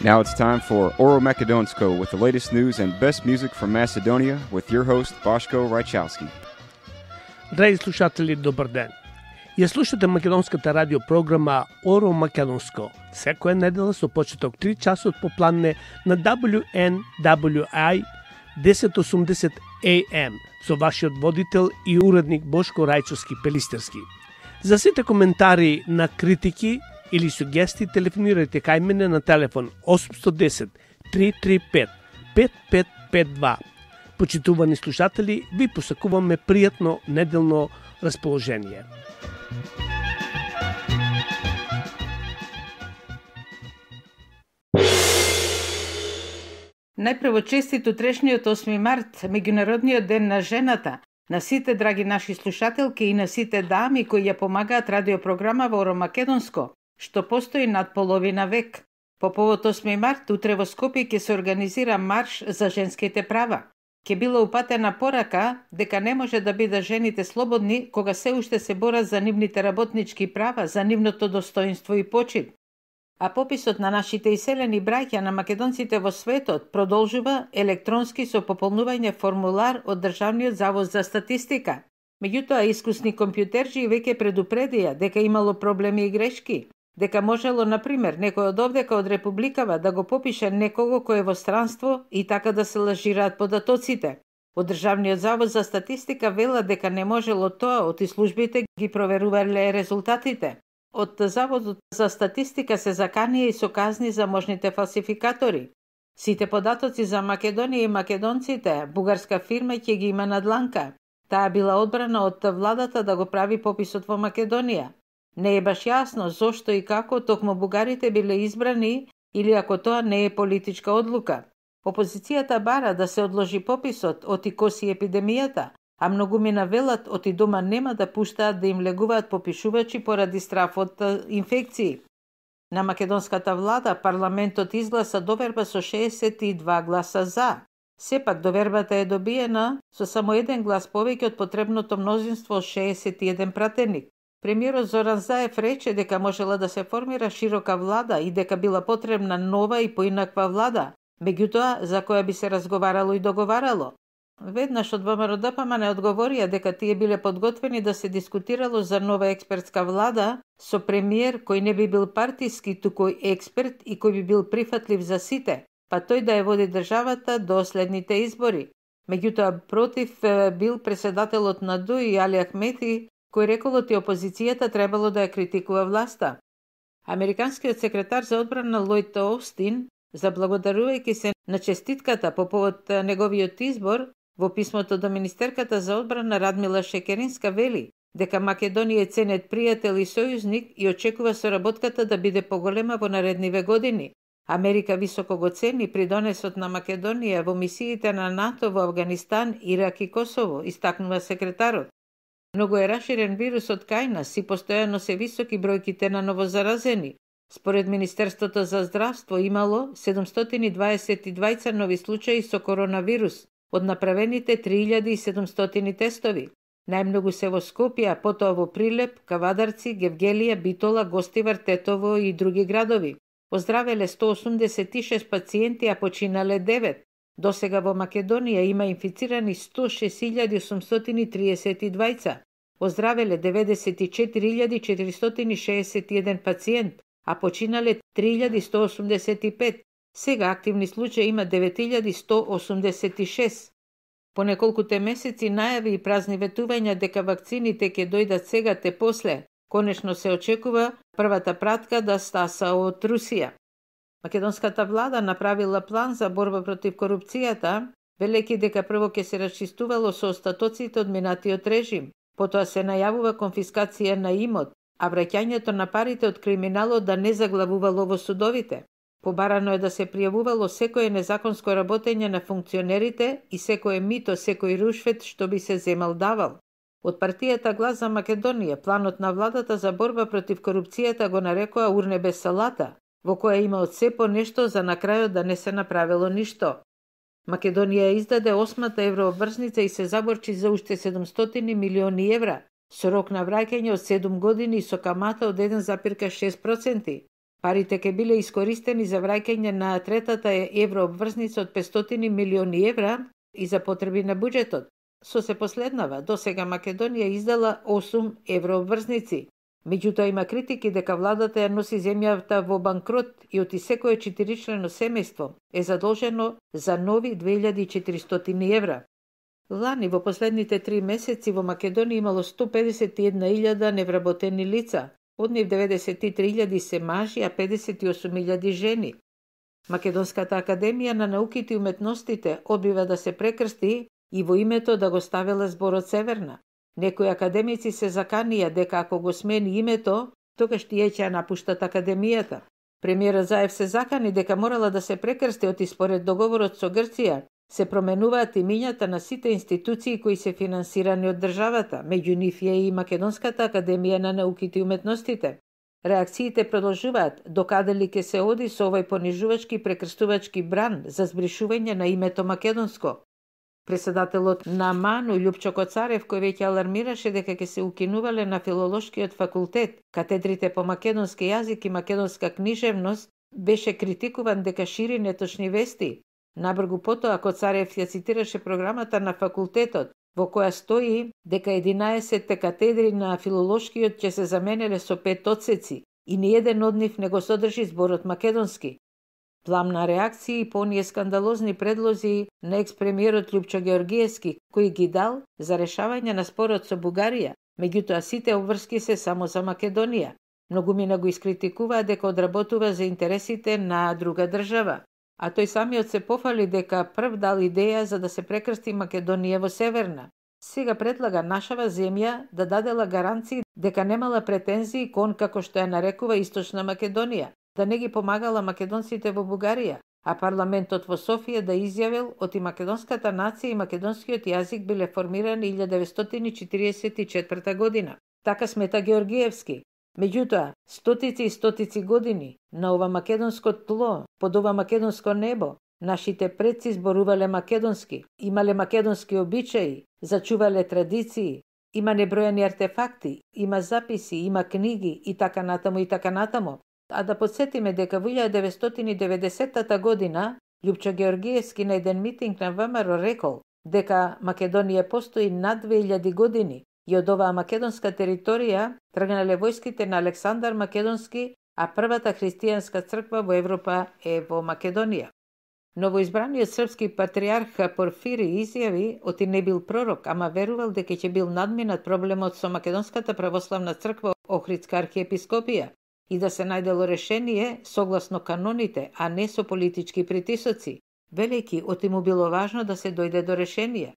Now it's time for Oro Makedonsko with the latest news and best music from Macedonia with your host Boško Rajčovski. Драги слушатели, добар ден. Ја слушате македонската радио програма Оро Македонско. Секоја недела со почеток 3 часот по планне на WNWI 1080 AM со вашиот водител и уредник Бошко Рајчовски Пелистерски. За сите коментари на критики или сугести телефонирајте кај мене на телефон 810 335 5552. Почитувани слушатели, ви посакуваме пријатно неделно расположение. Најпрво честит утрешниот 8 март, меѓународниот ден на жената, на сите драги наши слушателки и на сите дами кои ја помагаат радиопрограма во Оро Македонско, што постои над половина век. По повод 8 март, утре во Скопје ќе се организира марш за женските права. Ќе била упатена порака дека не може да бидат жените слободни кога се уште се борат за нивните работнички права, за нивното достоинство и почит. А пописот на нашите иселени браќа на македонците во светот продолжува електронски со пополнување формулар од Државниот завод за статистика. Меѓутоа, искусни компјутерџи веќе предупредија дека имало проблеми и грешки, дека можело, например, некој од овдека од Републикава да го попише некого кој е во странство и така да се лажираат податоците. Од Државниот завод за статистика вела дека не можело тоа, оти службите ги проверувале резултатите. Од Заводот за статистика се заканија и со казни за можните фалсификатори. Сите податоци за Македонија и македонците, бугарска фирма ќе ги има на дланка. Таа била одбрана од владата да го прави пописот во Македонија. Не е баш јасно зошто и како токму бугарите биле избрани или ако тоа не е политичка одлука. Опозицијата бара да се одложи пописот оти коси епидемијата, а многумина велат оти дома нема да пуштаат да им легуваат попишувачи поради страф од инфекции. На македонската влада парламентот изгласа доверба со 62 гласа за. Сепак довербата е добиена со само еден глас повеќе од потребното мнозинство 61 пратеник. Премиерот Зоран Заев рече дека можела да се формира широка влада и дека била потребна нова и поинаква влада, меѓутоа за која би се разговарало и договарало. Веднаш од ВМРО-ДПМН одговорија дека тие биле подготвени да се дискутирало за нова експертска влада со премиер кој не би бил партиски, туку експерт и кој би бил прифатлив за сите, па тој да ја води државата до следните избори. Меѓутоа против бил председателот на ДУИ Али Ахмети, кој рекол оти опозицијата требало да ја критикува власта. Американскиот секретар за одбрана Лојд Оустин, заблагодарувајќи се на честитката по повод неговиот избор, во писмото до министерката за одбрана Радмила Шекеринска вели дека Македонија е ценет пријател и сојузник и очекува соработката да биде поголема во наредниве години. Америка високо го цени придонесот на Македонија во мисиите на НАТО во Авганистан, Ирак и Косово, истакнува секретарот. Многу е раширен вирусот кај нас и постојано се високи бројките на новозаразени. Според Министерството за здравство имало 722 нови случаи со коронавирус од направените 3700 тестови. Најмногу се во Скопје, а потоа во Прилеп, Кавадарци, Гевгелија, Битола, Гостивар, Тетово и други градови. Оздравеле 186 пациенти, а починале 9. Досега во Македонија има инфицирани 106.832. Оздравеле 94.461 пациент, а починале 3.185. Сега активни случаи има 9.186. По неколкуте месеци најави и празни ветувања дека вакцините ќе дојдат сега те после. Конечно се очекува првата пратка да стаса од Русија. Македонската влада направила план за борба против корупцијата, велејќи дека прво ќе се расчистувало со остатоците од минатиот режим, потоа се најавува конфискација на имот, а враќањето на парите од криминалот да не заглавувало во судовите. Побарано е да се пријавувало секое незаконско работење на функционерите и секое мито, секој рушвет што би се земал давал. Од партијата Глас за Македонија, планот на владата за борба против корупцијата го нарекоа урне без салата, во која има од се по нешто за на крајот да не се направило ништо. Македонија издаде 8-та еврообврзница и се заборчи за уште 700 милиони евра, со рок на враќање од 7 години и со камата од 1,6%. Парите ќе биле искористени за враќање на третата еврообврзница од 500 милиони евра и за потреби на буџетот. Со се последнава, досега Македонија издала 8 еврообврзници. Меѓутоа има критики дека владата ја носи земјата во банкрот и оти секое 4-члено семејство е задолжено за нови 2400 евра. Лани во последните 3 месеци во Македонија имало 151.000 невработени лица, од нив 93.000 се мажи, а 58.000 жени. Македонската академија на науките и уметностите одбива да се прекрсти и во името да го ставила зборот Северна. Некои академици се заканија дека ако го смени името, тогаш тие ќе напуштат академијата. Премиерот Заев се закани дека морала да се прекрсти оти според договорот со Грција, се променуваат имињата на сите институции кои се финансирани од државата, меѓу нив е и Македонската академија на науките и уметностите. Реакциите продолжуваат докаде ли ќе се оди со овој понижувачки прекрстувачки бран за збришување на името македонско. Председателот на МАНУ Љупчо Коцарев, кој веќе алармираше дека ќе се укинувале на филолошкиот факултет катедрите по македонски јазик и македонска книжевност, беше критикуван дека шири неточни вести. Набргу потоа Коцарев ја цитираше програмата на факултетот, во која стои дека 11 катедри на филолошкиот ќе се заменеле со 5 одсеци и ниеден од нив не го содржи зборот македонски. Пламна реакција и по оние скандалозни предлози на екс-премиерот Љупчо Георгиевски, кој ги дал за решавање на спорот со Бугарија, меѓутоа сите обврски се само за Македонија. Многумина го искритикуваа дека одработува за интересите на друга држава, а тој самиот се пофали дека прв дал идеја за да се прекрсти Македонија во Северна. Сега предлага нашава земја да дадела гаранции дека немала претензии кон, како што ја нарекува, Источна Македонија, да не ги помагала македонците во Бугарија, а парламентот во Софија да изјавил оти македонската нација и македонскиот јазик биле формирани 1944 година. Така смета Георгиевски. Меѓутоа, стотици и стотици години на ова македонско тло, под ова македонско небо, нашите предци зборувале македонски, имале македонски обичаи, зачувале традиции, има небројани артефакти, има записи, има книги и така натаму и така натаму. А да подсетиме дека во 1990 година Љупчо Георгиевски на еден митинг на ВМРО рекол дека Македонија постои над 2000 години и од оваа македонска територија тргнале војските на Александар Македонски, а првата христијанска црква во Европа е во Македонија. Новоизбраниот српски патриарх Порфири изјави оти не бил пророк, ама верувал дека ќе бил надминат проблемот со Македонската православна црква Охридска архиепископија и да се најдело решение согласно каноните, а не со политички притисоци, велејќи оти му било важно да се дојде до решение.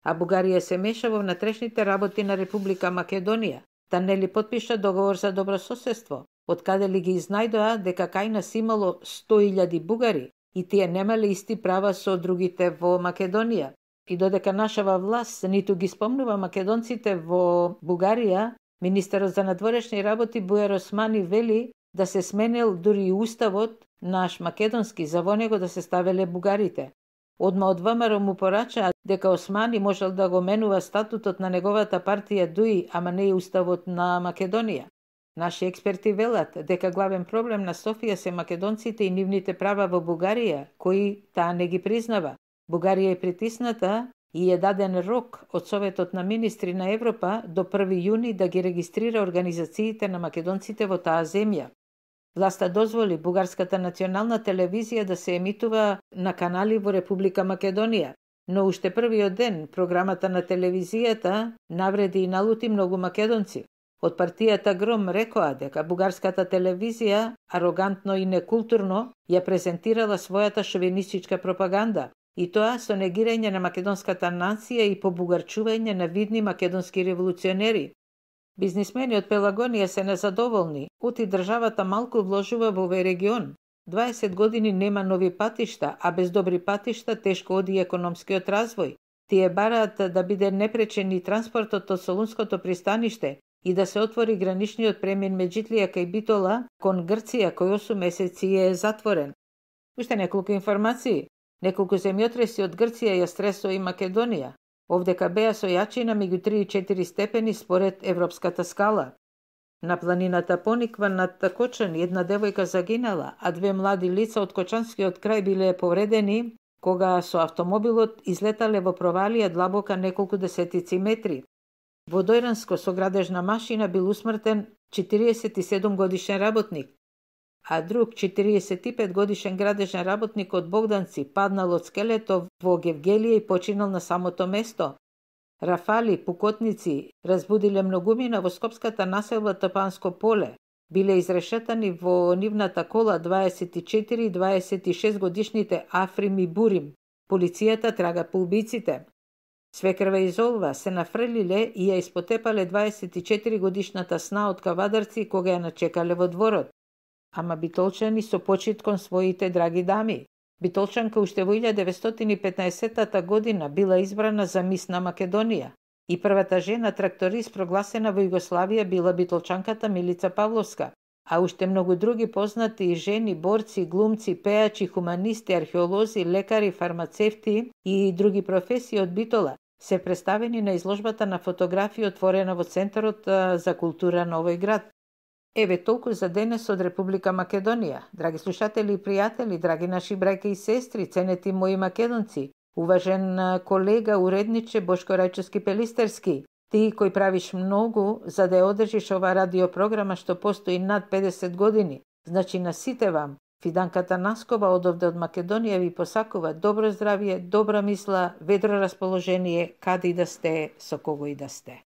А Бугарија се меша во внатрешните работи на Република Македонија, да не ли подпиша договор за добрососедство, од каде ли ги изнајдоа дека кај нас имало 100.000 бугари и тие немале исти права со другите во Македонија. И додека нашава власт ниту ги спомнува македонците во Бугарија, министерот за надворешни работи Бујар Османи вели да се сменил дури и уставот наш македонски за во него да се ставеле бугарите. Одма од ВМРО му порачаа дека Османи можел да го менува статутот на неговата партија ДУИ, ама не и уставот на Македонија. Наши експерти велат дека главен проблем на Софија се македонците и нивните права во Бугарија, кои таа не ги признава. Бугарија е притисната и е даден рок од Советот на министри на Европа до 1 јуни да ги регистрира организациите на македонците во таа земја. Власта дозволи Бугарската национална телевизија да се емитува на канали во Република Македонија, но уште првиот ден програмата на телевизијата навреди и налути многу македонци. Од партијата Гром рекоа дека бугарската телевизија арогантно и некултурно ја презентирала својата шовинистичка пропаганда, и тоа со негирање на македонската нација и побугарчување на видни македонски револуционери. Бизнисмени од Пелагонија се незадоволни, оти државата малку вложува во овој регион. 20 години нема нови патишта, а без добри патишта тешко оди економскиот развој. Тие бараат да биде непречен и транспортот од Солунското пристаниште и да се отвори граничниот премин Меджитлија кај Битола кон Грција, кој 8 месеци е затворен. Уште неколку информации. Неколку земјотреси од Грција ја стресоа и Македонија. Овдека беа со јачина меѓу 3 и 4 степени според европската скала. На планината пониква над Кочани една девојка загинала, а две млади лица од Кочанскиот крај биле повредени кога со автомобилот излетале во провалија длабока неколку десетици метри. Во Дојранско со градежна машина бил усмртен 47 годишен работник, а друг 45 годишен градежен работник од Богданци паднал од скелето во Гевгелија и починал на самото место. Рафали, пукотници разбудиле многумина во скопската населба Топанско поле. Биле изрешетани во нивната кола 24 и 26 годишните Африм и Бурим. Полицијата трага по убиците. Свекрва и Золва се нафрлиле и ја испотепале 24 годишната Сна од Кавадарци кога ја начекале во дворот. Ама битолчани со почит кон своите драги дами. Битолчанка уште во 1915 година била избрана за мис на Македонија и првата жена тракторист прогласена во Југославија била битолчанката Милица Павловска, а уште многу други познати жени, борци, глумци, пејачи, хуманисти, археолози, лекари, фармацевти и други професии од Битола се представени на изложбата на фотографии отворена во Центарот за култура на овој град. Еве толку за денес од Република Македонија. Драги слушатели и пријатели, драги наши браќа и сестри, ценети мои македонци, уважен колега, уредниче Бошко Рајчовски Пелистерски, ти кој правиш многу за да ја одржиш ова радиопрограма што постои над 50 години. Значи на сите вам, Фиданката Наскова одовде од Македонија ви посакува добро здравје, добра мисла, ведро расположение, каде и да сте, со кого и да сте.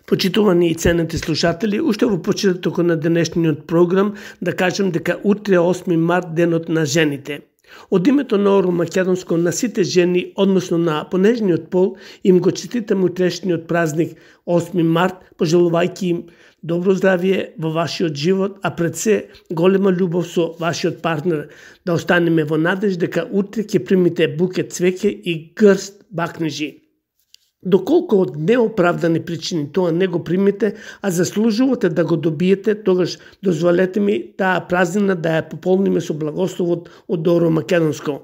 Почитувани и ценети слушатели, уште во почетокот на денешниот програм да кажем дека утре 8 март денот на жените. Од името на Оро Македонско на сите жени, односно на понежниот пол, им го честитам утрешниот празник 8 март, пожелувајќи им добро здравје во вашиот живот, а пред се голема љубов со вашиот партнер. Да останеме во надеж дека утре ќе примите букет цвеќе и грст бакнежи. Доколку од неоправдани причини тоа не го примите, а заслужувате да го добиете, тогаш дозволете ми таа празнина да ја пополниме со благословот од Оро Македонско.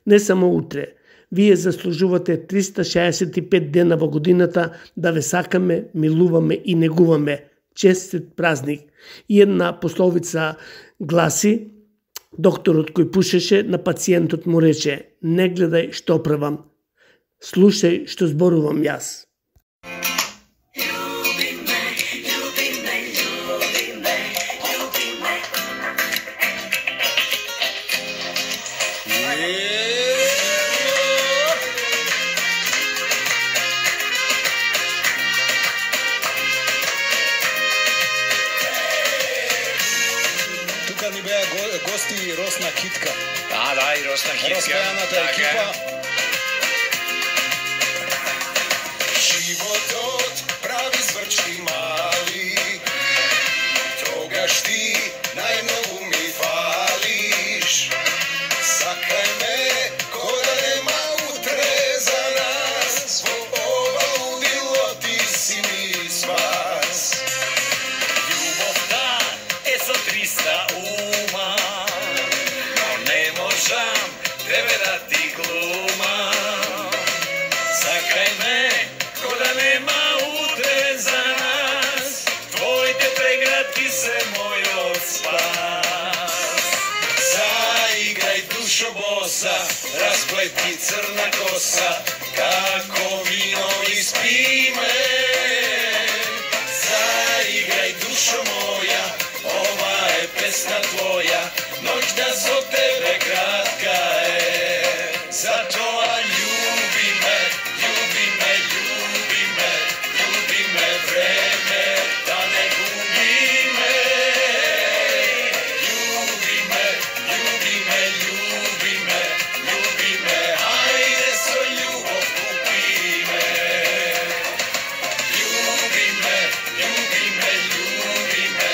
Не само утре, вие заслужувате 365 дена во годината да ве сакаме, милуваме и негуваме. Честит празник. И една пословица гласи: докторот кој пушеше на пациентот му рече: не гледај што правам, слушај што зборувам јас. Тука ни беа гости Росна Китка. Да, и Росна Китка. Распеаната екипа. Животот прави зврчки мали, тогаш ти најмногу ми фалиш. Сакај ме ко да нема утре за нас, во ова лудило ти си ми спас. Љубовта е со 300 ума, но не можам тебе да ти глумам. Сакај ме ко да нема утре за нас, твоите преградки се мојот спас. Заиграј душо боса, расплети црна коса, како вино испи ме. Заиграј душо моја, ова е песна твоја, ноќта со тебе кратка е. Затоа љуби ме, љуби ме, љуби ме, љуби ме, време да не губи ме. Љуби ме, љуби ме, љуби ме, љуби ме, ајде со љубов купи ме. Љуби ме, љуби ме, љуби ме,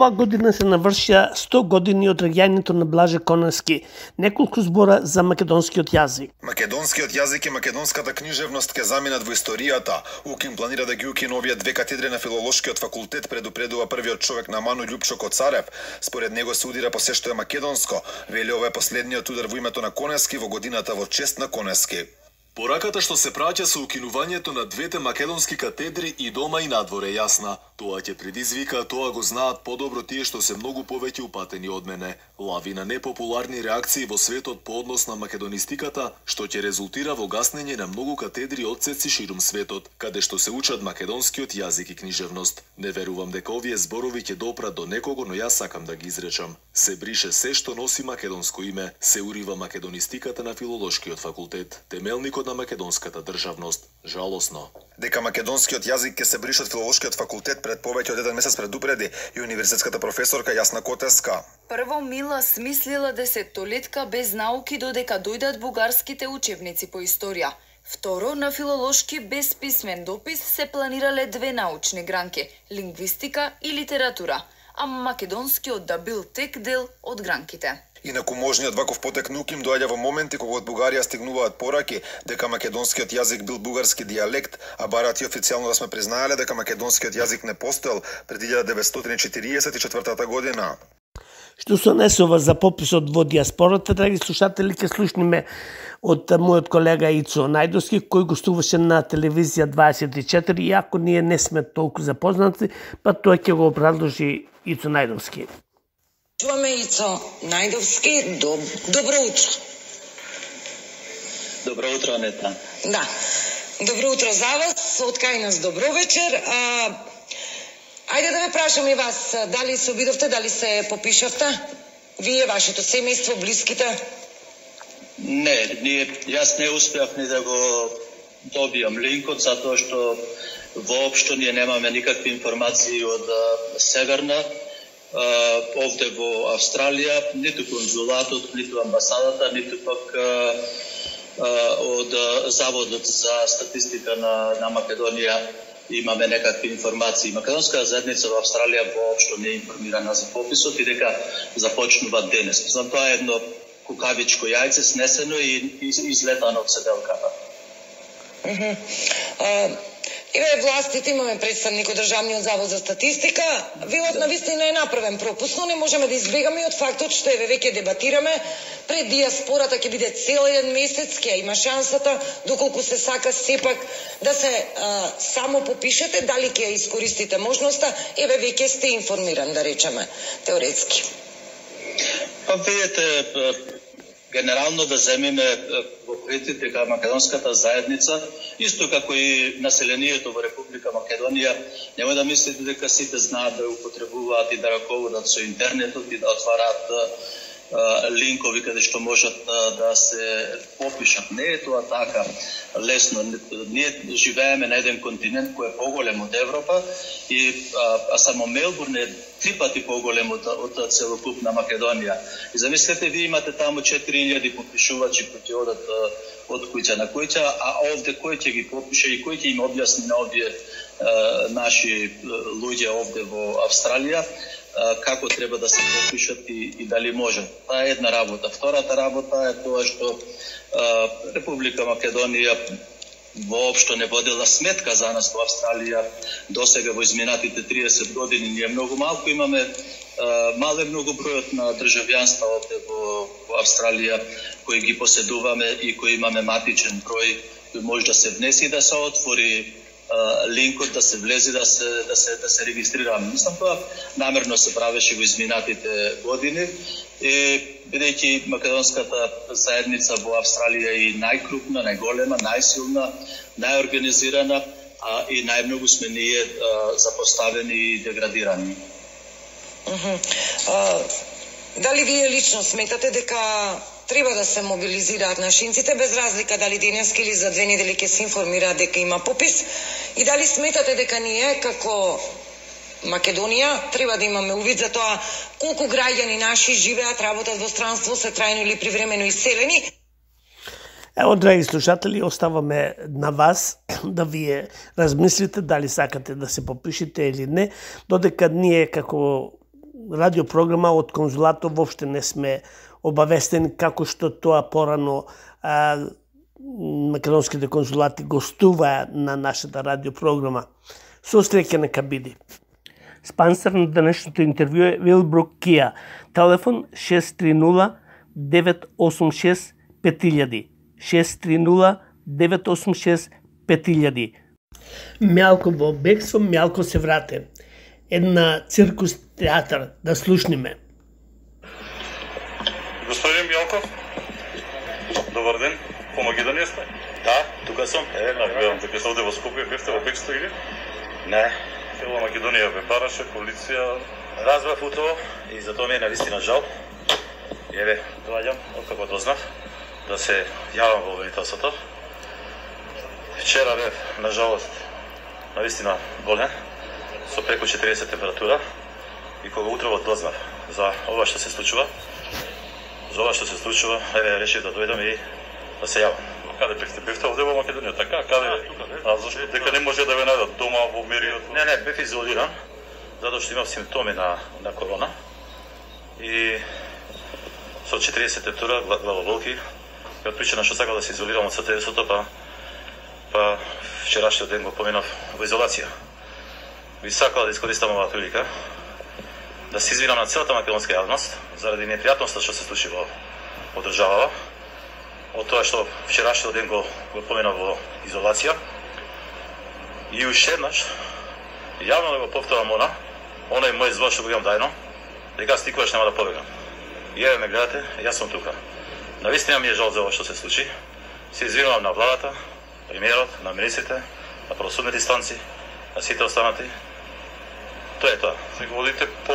Ова година се навршија 100 години од раѓањето на Блаже Коневски. Неколку збора за македонскиот јазик. Македонскиот јазик и македонската книжевност ќе заминат во историјата. УКИМ планира да ги укине овие две катедри на филолошкиот факултет, предупредува првиот човек на Ману Љупчо Коцарев. Според него се удира по се што е македонско. Вели ова е последниот удар во името на Коневски во годината во чест на Коневски. Пораката што се праќа со укинувањето на двете македонски катедри и дома и надвор е јасна. Тоа ќе предизвика, тоа го знаат подобро тие што се многу повеќе упатени од мене. Лавина непопуларни реакции во светот по однос на македонистиката, што ќе резултира во гаснење на многу катедри одсеци ширум светот, каде што се учат македонскиот јазик и книжевност. Не верувам дека овие зборови ќе допрат до некого, но јас сакам да ги изречам. Се брише се што носи македонско име, се урива македонистиката на филолошкиот факултет, темелникот на македонската државност. Жалосно. Дека македонскиот јазик ќе се брише од филолошкиот факултет пред повеќе од еден месец предупреди и универзитетската професорка Јасна Котеска. Прво Мила смислила десеттолетка без науки додека дојдат бугарските учебници по историја. Второ, на филолошки без писмен допис се планирале две научни гранки – лингвистика и литература, а македонскиот да бил тек дел од гранките. Инаку можниот ваков потек на УКИМ доаѓа во моменти кога од Бугарија стигнуваат пораки дека македонскиот јазик бил бугарски дијалект, а барат и официјално да сме признаеле дека македонскиот јазик не постоел пред 1944 година. Што се однесува за пописот во диаспората, драги слушатели, ќе слушниме од мојот колега Ицо Најдовски, кој гостуваше на телевизија 24, иако ние не сме толку запознати, па тоа ќе го продолжи Ицо Најдовски. Чуваме Ицо Најдовски, добро утро. Добро утро, Анета. Да, добро утро за вас, од кај нас добро вечер. Ајде да ве прашам и вас, дали се обидовте, дали се попишавте? Вие, вашето семејство, блиските? Не, јас не успеав ни да го добијам линкот, затоа што воопшто ние немаме никакви информации од Северна, овде во Австралија, ниту конзулатот, ниту амбасадата, ниту пак од Заводот за статистика на Македонија имаме некакви информации. Македонската заедница во Австралија воопшто не е информирана за пописот и дека започнува денес. Знам, тоа е едно кукавичко јајце снесено и излетано од седелката. Еве властите, имаме представник од Државниот завод за статистика, велат навистина е направен пропуст, но не можеме да избегаме и од фактот што еве веќе дебатираме, пред диаспората ќе биде цел еден месец, ќе има шансата, доколку се сака сепак да се само попишете, дали ќе искористите можноста, еве веќе сте информиран, да речеме, теоретски. Па видите, генерално да земиме во предвид дека македонската заедница, исто како и населението во Република Македонија, нема да мислите дека сите знаат да употребуваат и да раководат со интернетот и да отвараат линкови каде што можат да се попишат. Не е тоа така лесно. Ние живееме на еден континент кој е поголем од Европа и само Мелбурн е 3 пати поголем од целокупна Македонија. И замислете, ви имате таму 4000 попишувачи кои ќе одат од куќа на куќа, а овде кој ќе ги попише и кој ќе им објасни на овие наши луѓе овде во Австралија како треба да се попишат и дали може. Таа е една работа. Втората работа е тоа што Република Македонија воопшто не водела сметка за нас во Австралија досега во изминатите 30 години. Ние многу малку имаме, мале многу бројот на државјанства овде во Австралија кои ги поседуваме и кои имаме матичен број кој може да се внеси и да се отвори линкот, да се влезе, да се регистрираме. Мислам, тоа намерно се правеше во изминатите години и бидејќи македонската заедница во Австралија е најкрупна, најголема, најсилна, најорганизирана, и најмногу сме ние запоставени и деградирани. Дали вие лично сметате дека треба да се мобилизираат нашинците, без разлика дали денеска или за 2 недели ќе се информираат дека има попис, и дали сметате дека ние како Македонија треба да имаме увид за тоа колку граѓани наши живеат, работат во странство, се трајно или привремено иселени? Ево, драги слушатели, оставаме на вас да вие размислите дали сакате да се попишете или не, додека ние како радиопрограма од конзулатот воопште не сме обавестени како што тоа порано македонските конзулати гостуваа на нашата радиопрограма. Со среќа нека биде. Спонсор на денешното интервју е Вилбрук Кија. Телефон 630-986-5000. 630-986-5000. Мјалко во бегство, мјалко се врате. Една циркус театар, да слушниме. Господин Мјалков, добар ден, по Македонија сте? Да, тука сум. Гледам дека се овде во Скопје, бевте во бегство или? Не. Цела Македонија ве бараше, полиција. Разбрав утово и за тоа ми е навистина жал. Еве, доаѓам, откако дознав, да се јавам во обвинителството. Вчера бев, на жалост, навистина болен, со преку 40 температура, и кога утрово дознав за ова што се случува, еве, решив да дојдам и да се јавам. Каде бевте? Бевте овде во Македонија, така? Каде? А зашто? Дека не може да ве најдат дома во мериот? Не, бев изолиран, затоа што имав симптоми на корона. И со 40 температура, главоболки, и од причина што сакав да се изолирам од СТС-ото, па вчерашниот ден го поминав во изолација. Би сакал да искористам оваа прилика да се извинам на целата македонска јавност заради непријатноста што се случи во државава, од тоа што вчерашниот ден го поминав во изолација. И уште еднаш јавно да го повторам оној мој збор што го имам дајно, дека аз никогаш нема да побегам. И еве ме гледате, јас сум тука. Навистина ми е жал за ова што се случи. Се извинувам на владата, премиерот, на министрите, на правосудните инстанции, на сите останати. Тоа е тоа. Се го водите по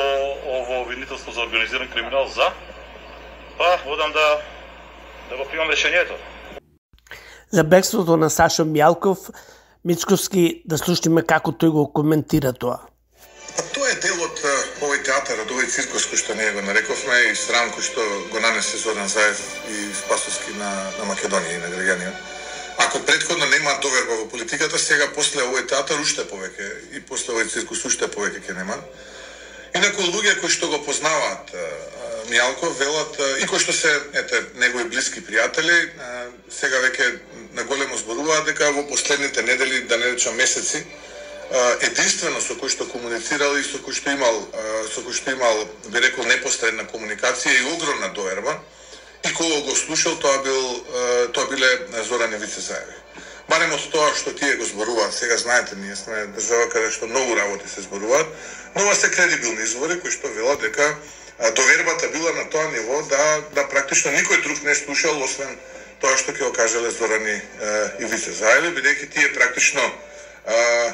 ово обвинителство за организиран криминал за? Па, водам да го примам решението. За бегството на Сашо Мјалков, Мицковски, да слушаме како тој го коментира тоа. Тоа е дел од овој театар, од овој циркус кој што ние го нарековме и срам кој што го нанесе Зоран Заев и Спасовски на Македонија и на граѓанија. Ако претходно нема доверба во политиката, сега после овој театар уште повеќе и после овој циркус уште повеќе ќе нема. Инаку луѓе кои што го познаваат Мјалков велат и кои што се негови блиски пријатели, сега веќе наголемо зборуваат дека во последните недели, да не речам месеци, единствено со кој што комуницирал и со кој што имал, би рекол, непосредна комуникација и огромна доверба, и кога го слушал, тоа биле Зоран и Вице Заеви. Барем од тоа што тие го зборуваат, сега знаете, ние сме држава каде што многу работи се зборуваат, но ова се кредибилни извори кои што велат дека довербата била на тоа ниво да практично никој друг не слушал освен тоа што ќе го кажеле Зоран и Вице Заеви, бидејќи тие практично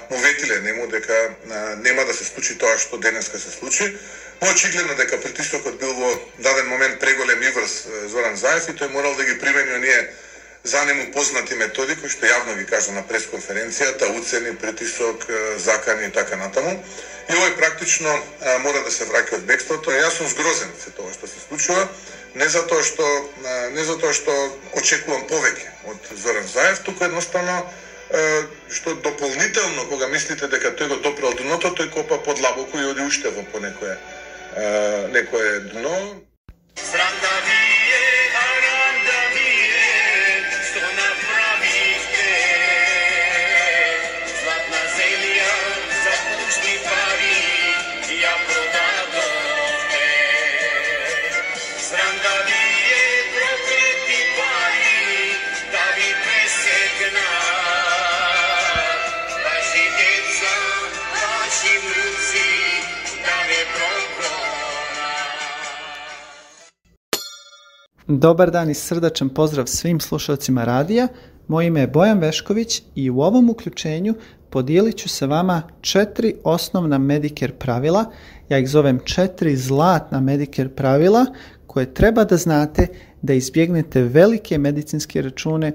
му ветиле нему дека нема да се случи тоа што денеска се случи. Но очигледно дека притисокот бил во даден момент преголем и врз Зоран Заев и тој морал да ги примени оние за нему познати методи кои што јавно ги кажа на пресконференцијата, уцени, притисок, закани и така натаму. И овој практично мора да се враќа од бегството. Јас сум згрозен се тоа што се случува, не затоа што очекувам повеќе од Зоран Заев, туку едноставно што дополнително кога мислите дека тој го допрел дното, тој копа подлабоко и оди уште во по некое дно. Срам да ви е, арам да ви е, што направивте. Златна земја за пушни пари ја продадовте. Срам да ви е, проклети пари да ви пресекнат. Ваши деца, ваши внуци да ве проклонат. Dobar dan i srdačan pozdrav svim slušalcima radija. Moje ime je Bojan Vešković i u ovom uključenju podijelit ću sa vama 4 osnovna Medicare pravila. Ja ih zovem 4 zlatna Medicare pravila koje treba da znate da izbjegnete velike medicinske račune,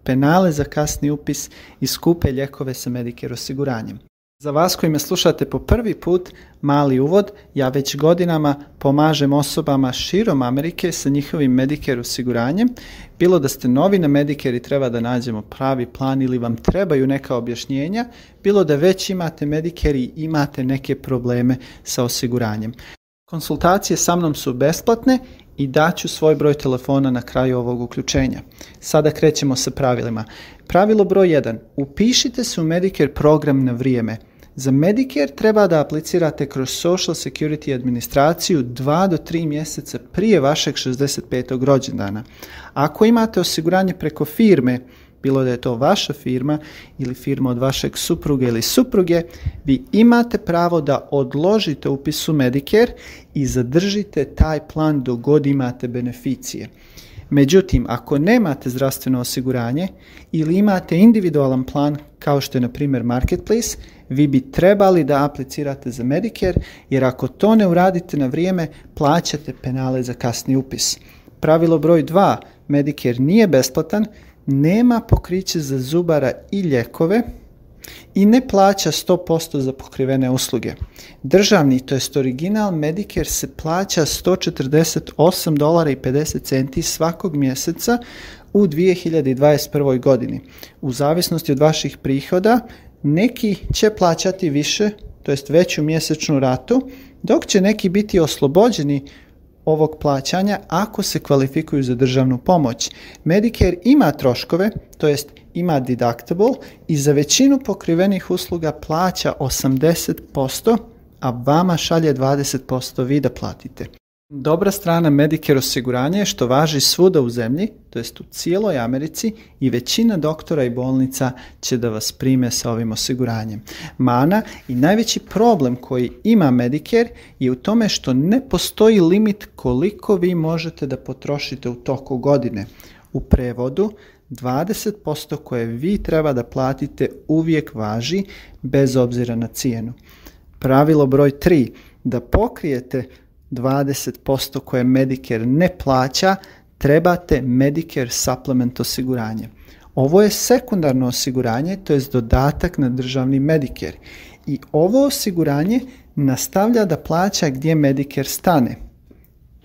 penale za kasni upis i skupe lijekove sa Medicare osiguranjem. Za vas koji me slušate po prvi put, mali uvod, ja već godinama pomažem osobama širom Amerike sa njihovim Medicare osiguranjem. Bilo da ste novi na Medicare i treba da nađemo pravi plan ili vam trebaju neka objašnjenja, bilo da već imate Medicare i imate neke probleme sa osiguranjem. Konsultacije sa mnom su besplatne i daću svoj broj telefona na kraju ovog uključenja. Sada krećemo sa pravilima. Pravilo broj 1. Upišite se u Medicare program na vrijeme. Za Medicare treba da aplicirate kroz Social Security administraciju 2 do 3 mjeseca prije vašeg 65. rođendana. Ako imate osiguranje preko firme, bilo da je to vaša firma ili firma od vašeg supruga ili supruge, vi imate pravo da odložite upis u Medicare i zadržite taj plan dok god imate beneficije. Međutim, ako nemate zdravstveno osiguranje ili imate individualan plan kao što je na primjer Marketplace, vi bi trebali da aplicirate za Medicare, jer ako to ne uradite na vrijeme, plaćate penale za kasni upis. Pravilo broj 2. Medicare nije besplatan, nema pokriće za zubara i lijekove i ne plaća 100% za pokrivene usluge. Državni, to jest original Medicare, se plaća $148.50 svakog mjeseca u 2021. godini. U zavisnosti od vaših prihoda, neki će plaćati više, to jest veću mjesečnu ratu, dok će neki biti oslobođeni ovog plaćanja ako se kvalifikuju za državnu pomoć. Medicare ima troškove, to jest ima deductible i za većinu pokrivenih usluga plaća 80%, a vama šalje 20% vi da platite. Dobra strana Medicare osiguranja je što važi svuda u zemlji, to jest u cijeloj Americi, i većina doktora i bolnica će da vas prime sa ovim osiguranjem. Mana i najveći problem koji ima Medicare je u tome što ne postoji limit koliko vi možete da potrošite u toku godine. U prevodu, 20% koje vi treba da platite uvijek važi, bez obzira na cijenu. Pravilo broj 3. Da pokrijete 20% koje Medicare ne plaća, trebate Medicare Supplement osiguranje. Ovo je sekundarno osiguranje, to je dodatak na državni Medicare. I ovo osiguranje nastavlja da plaća gdje Medicare stane.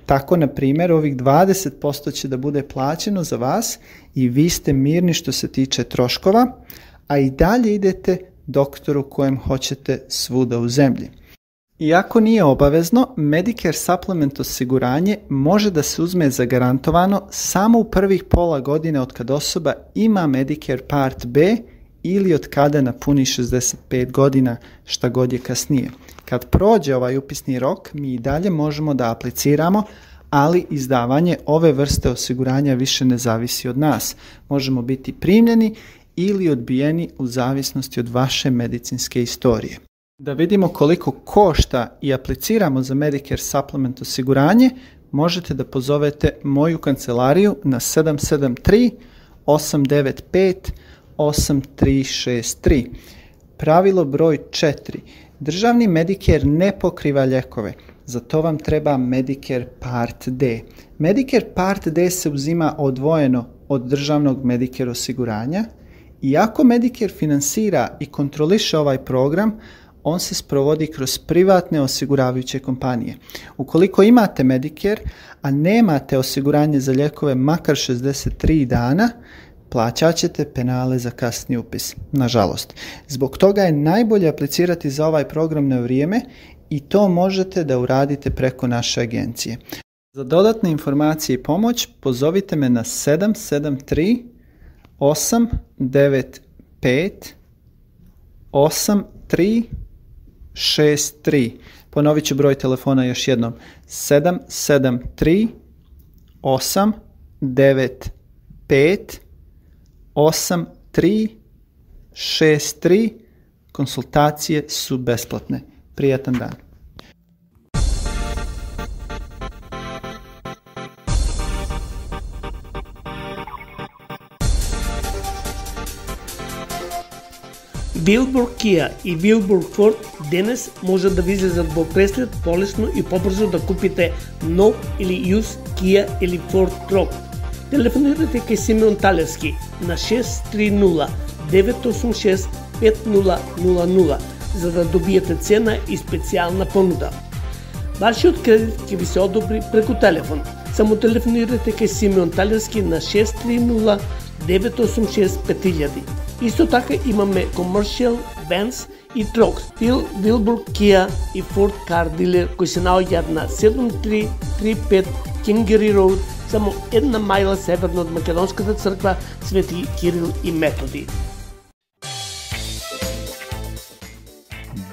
Tako, na primjer, ovih 20% će da bude plaćeno za vas i vi ste mirni što se tiče troškova, a i dalje idete doktoru kojem hoćete svuda u zemlji. Iako nije obavezno, Medicare Supplement osiguranje može da se uzme zagarantovano samo u prvih pola godine od kad osoba ima Medicare Part B ili od kada napuni 65 godina, šta god je kasnije. Kad prođe ovaj upisni rok, mi i dalje možemo da apliciramo, ali izdavanje ove vrste osiguranja više ne zavisi od nas. Možemo biti primljeni ili odbijeni u zavisnosti od vaše medicinske istorije. Da vidimo koliko košta i apliciramo za Medicare Supplement osiguranje, možete da pozovete moju kancelariju na 773-895-8363. Pravilo broj 4. Državni Medicare ne pokriva lijekove, za to vam treba Medicare Part D. Medicare Part D se uzima odvojeno od državnog Medicare osiguranja i ako Medicare finansira i kontroliše ovaj program, on se sprovodi kroz privatne osiguravajuće kompanije. Ukoliko imate Medicare, a nemate osiguranje za lijekove makar 63 dana, plaćat ćete penale za kasni upis, nažalost. Zbog toga je najbolje aplicirati za ovaj program na vrijeme i to možete da uradite preko naše agencije. Za dodatne informacije i pomoć pozovite me na 773-895-8363. Ponovit ću broj telefona još jednom. 773-895-8363. Konsultacije su besplatne. Prijatan dan. Wilbur Kia и Wilbur Ford денес може да ви излезат во преслед полесно и побрзо да купите нов или used Kia или Ford Truck. Телефонирате кај Симеон Талевски на 630-986-5000 за да добиете цена и специјална понуда. Вашиот кредит ќе ви се одобри преку телефон. Само телефонирате кај Симеон Талевски на 630-986-5000. Исто така имаме commercial vans и Troxville, Wilbur Kia и Ford Car Dealer кои се наоѓаат на 7335 Kingery Road, само 1 мајла северно од Македонската црква Свети Кирил и Методи.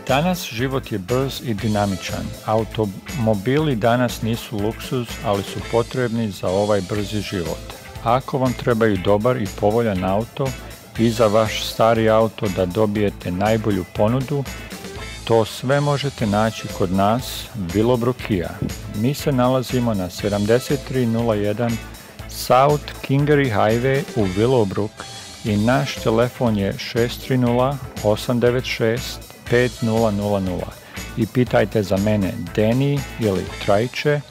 Danas život je brz i dinamičan. Automobili danas nisu luksuz, ali su potrebni za ovaj brzi život. Ako vam trebaju dobar i povoljan auto i za vaš stari auto da dobijete najbolju ponudu, to sve možete naći kod nas, Willowbrook Kia. Mi se nalazimo na 7301 South Kingery Highway u Willowbrook i naš telefon je 630-896-5000 i pitajte za mene Deni ili Trajče.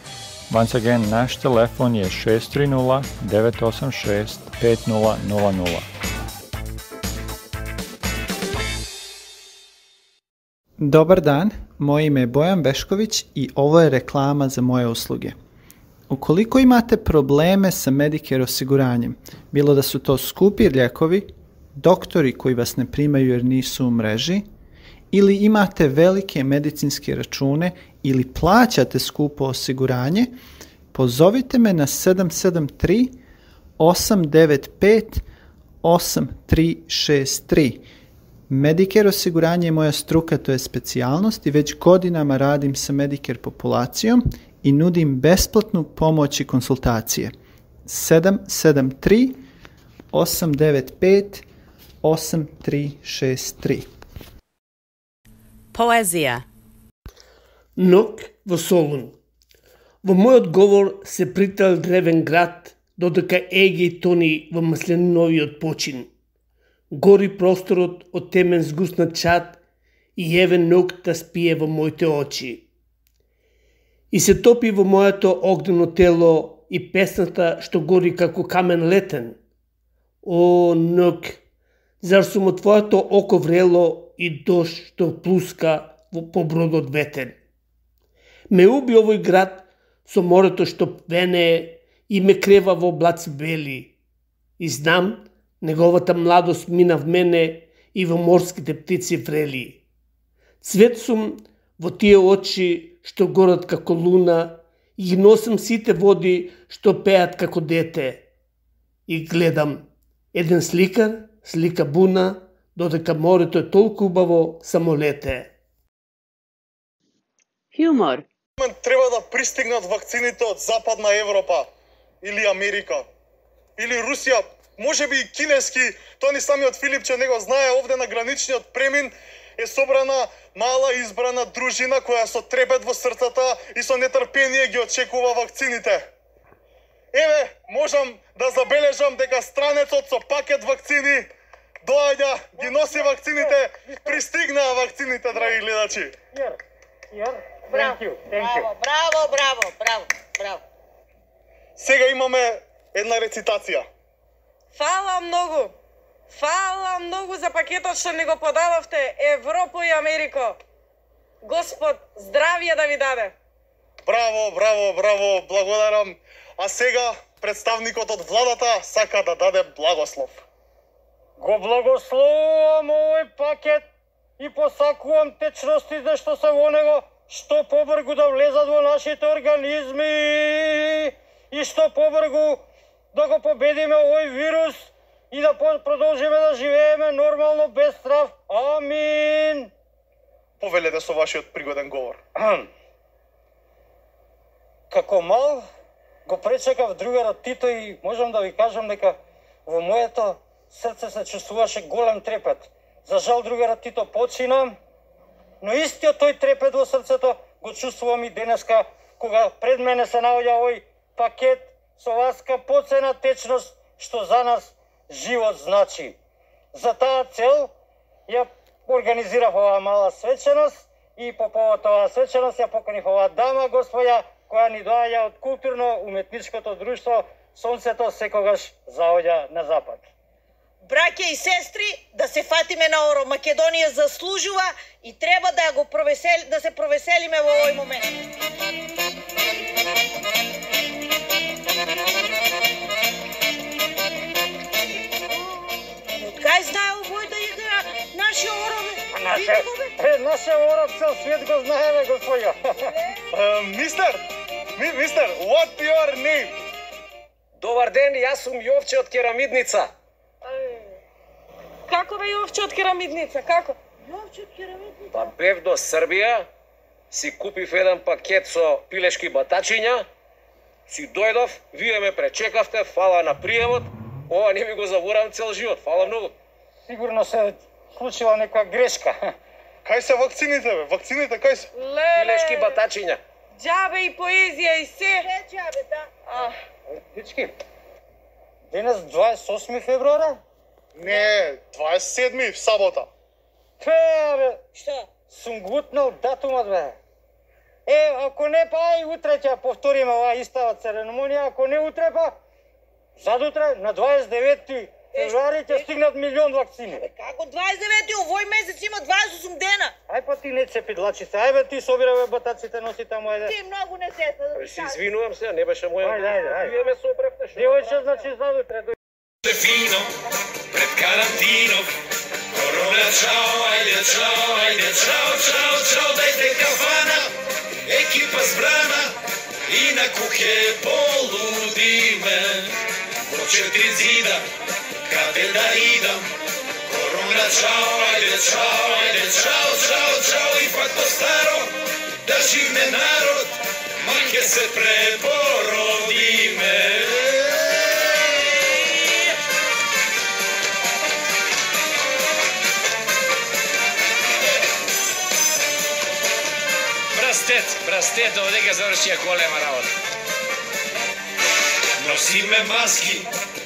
Once again, naš telefon je 630-986-5000. Dobar dan, moje ime je Bojan Vešković i ovo je reklama za moje usluge. Ukoliko imate probleme sa Medicare osiguranjem, bilo da su to skupi lijekovi, doktori koji vas ne primaju jer nisu u mreži, ili imate velike medicinske račune ili plaćate skupo osiguranje, pozovite me na 773-895-8363. Medicare osiguranje je moja struka, to je specijalnost i već godinama radim sa Medicare populacijom i nudim besplatnu pomoć i konsultacije. 773-895-8363. Poezija. Ног во Солун. Во мојот говор се притал древен град, додека Еги тони во маслениновиот почин. Гори просторот од темен згуснат чад и еве ног да спие во моите очи. И се топи во моето огнено тело и песната што гори како камен летен. О, ног, зар сум од твоето око врело и дожд што плуска по бродот ветен. Ме уби овој град со морето што вене и ме крева во облаци бели. И знам, неговата младост мина в мене и во морските птици врели. Цвет сум во тие очи што горат како луна и ги носам сите води што пеат како дете. И гледам, еден сликар слика буна, додека морето е толку убаво само лете. Хумор. Треба да пристигнат вакцините од Западна Европа или Америка или Русија, можеби и кинески. Тоа ни самиот Филипче него знае. Овде на граничниот премин е собрана мала избрана дружина која со трепет во срцата и со нетрпение ги очекува вакцините. Еве, можам да забележам дека странецот со пакет вакцини доаѓа, ги носи вакцините, пристигнаа вакцините, драги гледачи. Браво. Сега имаме една рецитација. Фала многу за пакетот што ни го подадовте, Европа и Америка. Господ, здравје да ви даде. Браво, благодарам. А сега представникот од владата сака да даде благослов. Го благословувам овој пакет и посакувам течностите што се во него, што побргу да влезат во нашите организми и што побргу да го победиме овој вирус и да продолжиме да живееме нормално без страв. Амин. Повелете со вашиот пригоден говор. Како мал го пречекав другарот Тито и можам да ви кажам дека во моето срце се чувствуваше голем трепет. За жал другарот Тито почина, но истиот тој трепет во срцето го чувствувам и денеска, кога пред мене се наоѓа овој пакет со васка поцена течност, што за нас живот значи. За таа цел ја организирав оваа мала свеченост и по повод оваа свеченост ја поканив оваа дама, господја, која ни доаѓа од културно-уметничкото друштво Сонцето секогаш заоѓа на запад. Браќа и сестри, да се фатиме на Оро. Македонија заслужува и треба да се провеселиме во овој момент. Од кај знае овој да игра наши Оро? Наше ора цел свет го знае, бе, господја. Мистер, what your name? Добар ден, јас сум Јовче од Керамидница. Како бе Јовче од Керамидница, како? Јовче од Керамидница? Па бев до Србија, си купив еден пакет со пилешки батачиња, си дојдов, вие ме пречекавте, фала на приемот, ова не ми го заборам цел живот, фала многу. Сигурно се случила некоја грешка. Кај се вакцините, бе? Вакцините кај се? Пилешки батачиња. Џабе и поезија и се. Џабе, да. Дечки, денес 28 февруара? Не, 27 в сабота. Бе, Што? сум гутнал датумот, бе. Ако не, па и утре ќе повториме оваа истава церемонија, ако не утре, па задутре на 29 февруари ќе стигнат 1 милион вакцини. Како 29-ти, овој месец има 28 дена. Ај па ти не цепи длачите, ај бе ти собира бе батаците, носи таму, ајде. Ти многу не се. Се извинувам се, не беше моја. Ајде. Вие ме сопревте. Девојче, значи задутре. Фино, пред карантинов, корона чао, ајде чао, чао, дајте кафана, екипа збрана и на кухе полудиме. Во 4 зида, каде да идам, корона чао, ајде чао, и пак то старо, да живне народ, ма ке се препородиме. Брастет, овдека завршија голема работа. Носиме маски,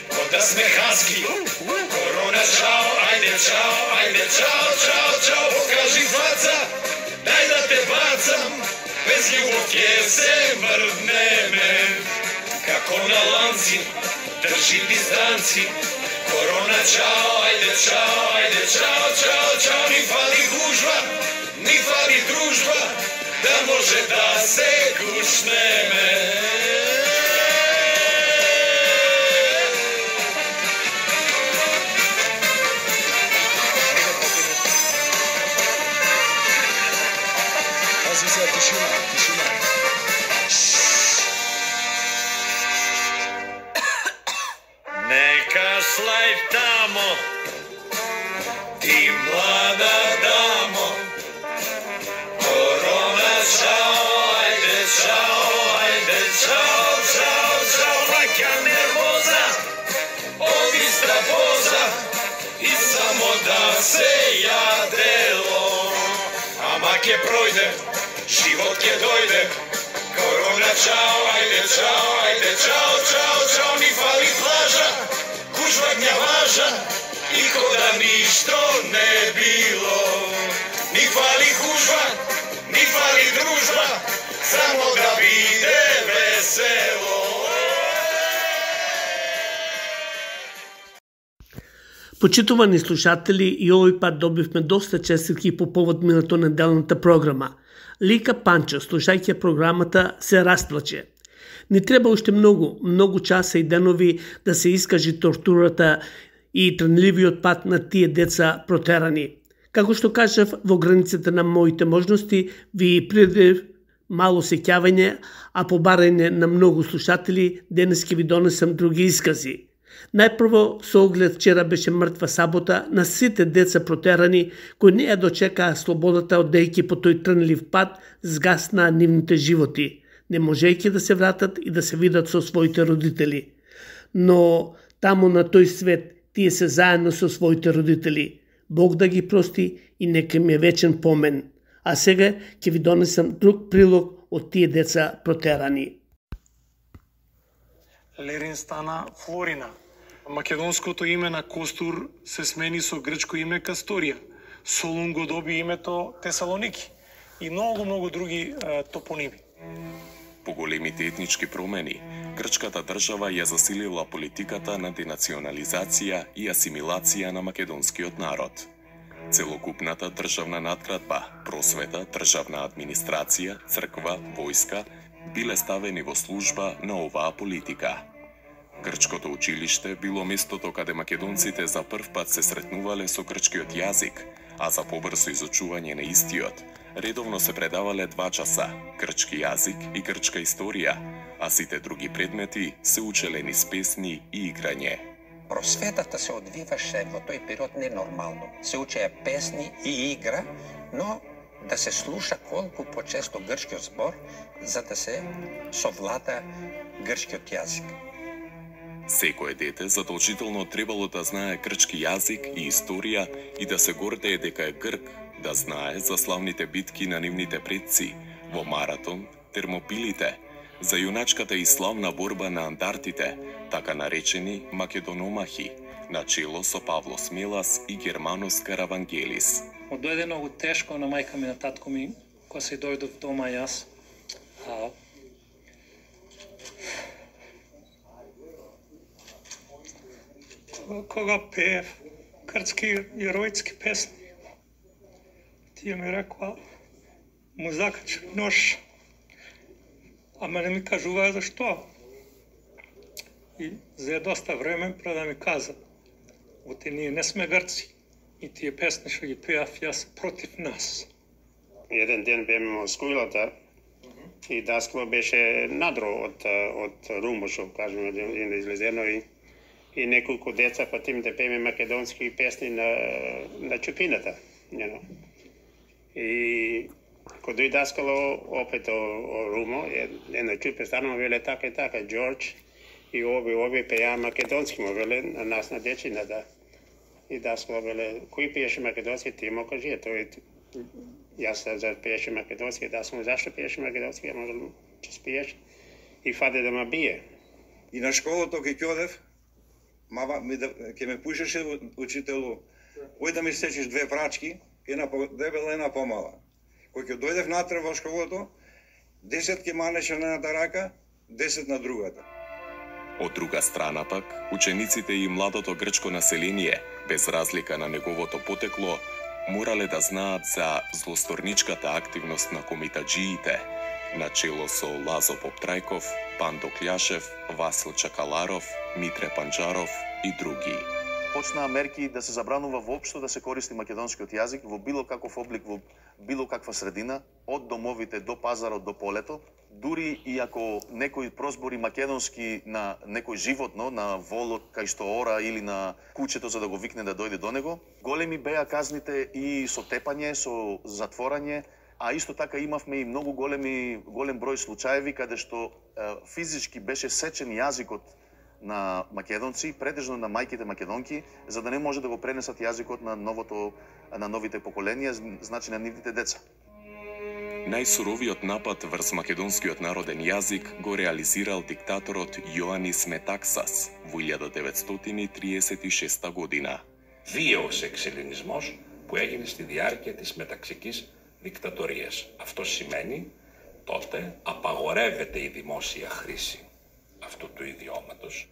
кога да сме хаски. Корона чао, ајде чао, покажи фаца, дај да те бацам, без љубов ќе се мрднеме. Како на ланци, држи дистанци. Корона чао, ајде чао, ни фали гужва, ни фали дружба, да може да се гушнеме. Пази се, тишина. Нека слај тамо, ти млада дамо. Корона чао, ајде чао, ваќа нервоза, оди стравоза и само да се јадело. Ама ке пројде, живот ке дојде. Корона чао, ајде чао, ни фали плажа, гужва гњаважа и кода ништо не било. Ни фали гужва, ни фали дружба, само да биде весело. Почитувани слушатели, и овој пат добивме доста честитки по повод минато неделната програма. Лика Панчо, слушајќи програмата, се расплаче. Не треба уште многу часа и денови да се искажи тортурата и тренливиот пат на тие деца протерани. Како што кажав, во границите на моите можности, ви придев мало сеќавање, а по барање на многу слушатели, денес ќе ви донесам други искази. Најпрво, со оглед вчера беше мртва сабота на сите деца протерани, кои не ја дочекаа слободата одејќи по тој трнлив пат, згаснаа нивните животи, не можејќи да се вратат и да се видат со своите родители. Но таму на тој свет, тие се заедно со своите родители. Бог да ги прости и нека ми е вечен помен. А сега ќе ви донесам друг прилог од тие деца протерани. Лерин стана Флорина. Македонското име на Костур се смени со грчко име Касторија. Солун го доби името Тесалоники и многу други топоними. По големите етнички промени, грчката држава ја засилила политиката на денационализација и асимилација на македонскиот народ. Целокупната државна надградба, просвета, државна администрација, црква, војска биле ставени во служба на оваа политика. Грчкото училиште било местото каде македонците за прв пат се сретнувале со грчкиот јазик, а за побрзо изучување на истиот, редовно се предавале 2 часа грчки јазик и грчка историја, а сите други предмети се учеле низ песни и играње. Просветата се одвиваше во тој период ненормално. Се учеа песни и игра, но да се слуша колку почесто грчкиот збор, за да се совлада грчкиот јазик. Секое дете задолжително требало да знае грчки јазик и историја и да се гордее дека е грк, да знае за славните битки на нивните предци, во Маратон, Термопилите, за јуначката и славна борба на андартите, така наречени македономахи, на чело со Павло Смелас и Германос Каравангелис. Дојде многу тешко на мајка ми, на татко ми, кога се дојдов дома јас. Кога пеев грчки јеројски песни, тие ми рекоа, му закачи нож, ама не ми кажуваа зашто. И за доста време пред да ми каза, оти ние не сме грци и тие песни што ги пеав јас против нас. Еден ден беме во скулата и даскало беше надро од румбо, што кажеме, излезено и неколку деца потим да пееме македонски песни на чупината. И кога дојде даскало опет о румо, една чупе станува веле така и така, Джордж и оби пеја македонски, му веле на нас на дечината. И даскало веле, кој пееше македонски, ти му кажи, јас за пееше македонски, да сум зашто пееше македонски, може ќе спиеш и фаде да ме бие. И на школото ке ќодев, ке ме пушеше учителу, ој да ми сечиш 2 прачки, една дебела, една помала. Кој ќе дојдев натре во школото, 10 ке манеше на едната рака, 10 на другата. Од друга страна пак, учениците и младото грчко население, без разлика на неговото потекло, морале да знаат за злосторничката активност на комитаджиите, начело со Лазо Поптрајков, Пандо Кљашев, Васил Чакаларов, Митре Панџаров и други. Почнаа мерки да се забранува воопшто да се користи македонскиот јазик во било каков облик, во било каква средина, од домовите до пазарот до полето, дури и ако некој прозбори македонски на некој животно, на волот кај што ора или на кучето за да го викне да дојде до него, големи беа казните и со тепање, со затворање, а исто така имавме и многу голем број случаеви каде што физички беше сечен јазикот на македонци, претежно на мајките македонки, за да не може да го пренесат јазикот на новите поколенија, значи на нивните деца. Најсуровиот напад врз македонскиот народен јазик го реализирал диктаторот Јоанис Метаксас во 1936 година. Βίαιος εξελληνισμός που έγινε στη διάρκεια της μεταξικής δικτατορίας. Αυτό σημαίνει τότε απαγορεύεται η δημόσια χρήση αυτού του ιδιώματος.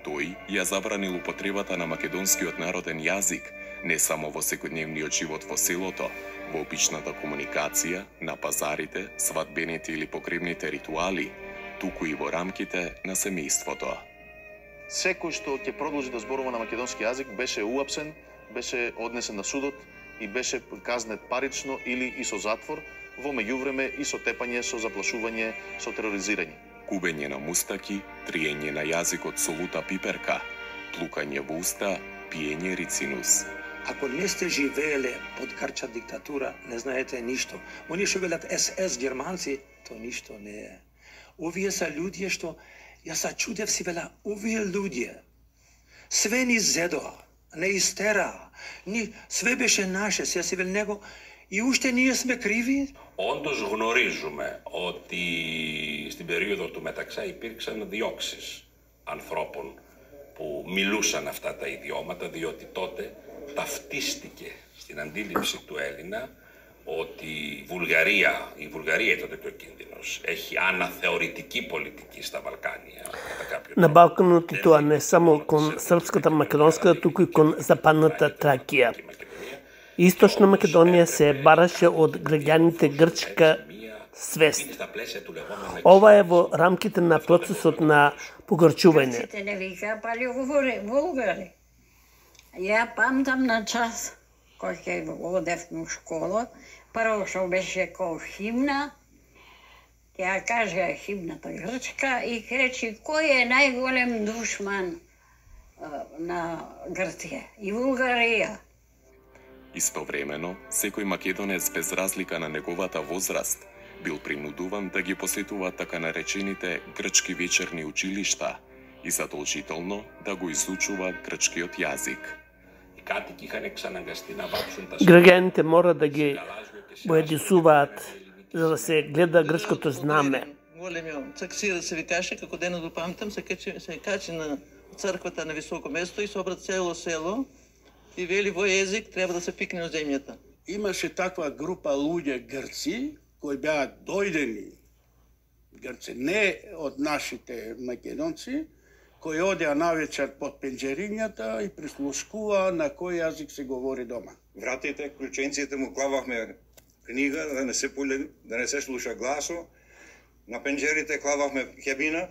Тој ја забранил употребата на македонскиот народен јазик не само во секојдневниот живот во селото, во обичната комуникација, на пазарите, свадбените или погребните ритуали, туку и во рамките на семејството. Секој што ќе продолжи да зборува на македонски јазик беше уапсен, беше однесен на судот и беше казнет парично или и со затвор, во меѓувреме и со тепање, со заплашување, со тероризирање. Кубење на мустаки, триење на јазикот со лута пиперка, плукање во уста, пиење рицинус. Ако не сте живееле под грчка диктатура, не знаете ништо. Они што велат СС германци, то ништо не е. Овие са луѓе што, јас се чудев си вела, овие луѓе, све ни зедоа, не истераа, све беше наше, се си вел него, и уште ние сме криви. Όντως γνωρίζουμε ότι στην περίοδο του Μεταξά υπήρξαν διώξεις ανθρώπων που μιλούσαν αυτά τα ιδιώματα, διότι τότε ταυτίστηκε στην αντίληψη του Έλληνα ότι η Βουλγαρία ήταν το κίνδυνος, έχει αναθεωρητική πολιτική στα Βαλκάνια. На Балканот и тоа не само кон српската македонска, туку и кон западната Тракија. Источна Македонија се бараше од граѓаните грчка свест. Ова е во рамките на процесот на погорчување. Грците не вика, пали говори, Булгари. Ја памтам на час, кога ќе одевме у школа, прво што беше као химна, ќе ја кажа химната грчка и ќе речи кој е најголем душман на Грција и Булгарија. Истовремено, секој македонец без разлика на неговата возраст бил принудуван да ги посетува така наречените грчки вечерни училишта и задолжително да го изучува грчкиот јазик. Граѓаните мора да ги боедисуваат за да се гледа грчкото знаме. Големиот цаксира се викаше, како денот го памтам, се качи на црквата на високо место и собра цело село и вели вој език треба да се пикне од земјата. Имаше таква група луѓе грци кои беа дојдени грци, не од нашите македонци, кои одеа навечер под пенџерињата и прислушкуваа на кој јазик се говори дома. Вратите, клученците му клававме книга да не се пуле, да не се слуша гласо. На пенџерите клававме хебина,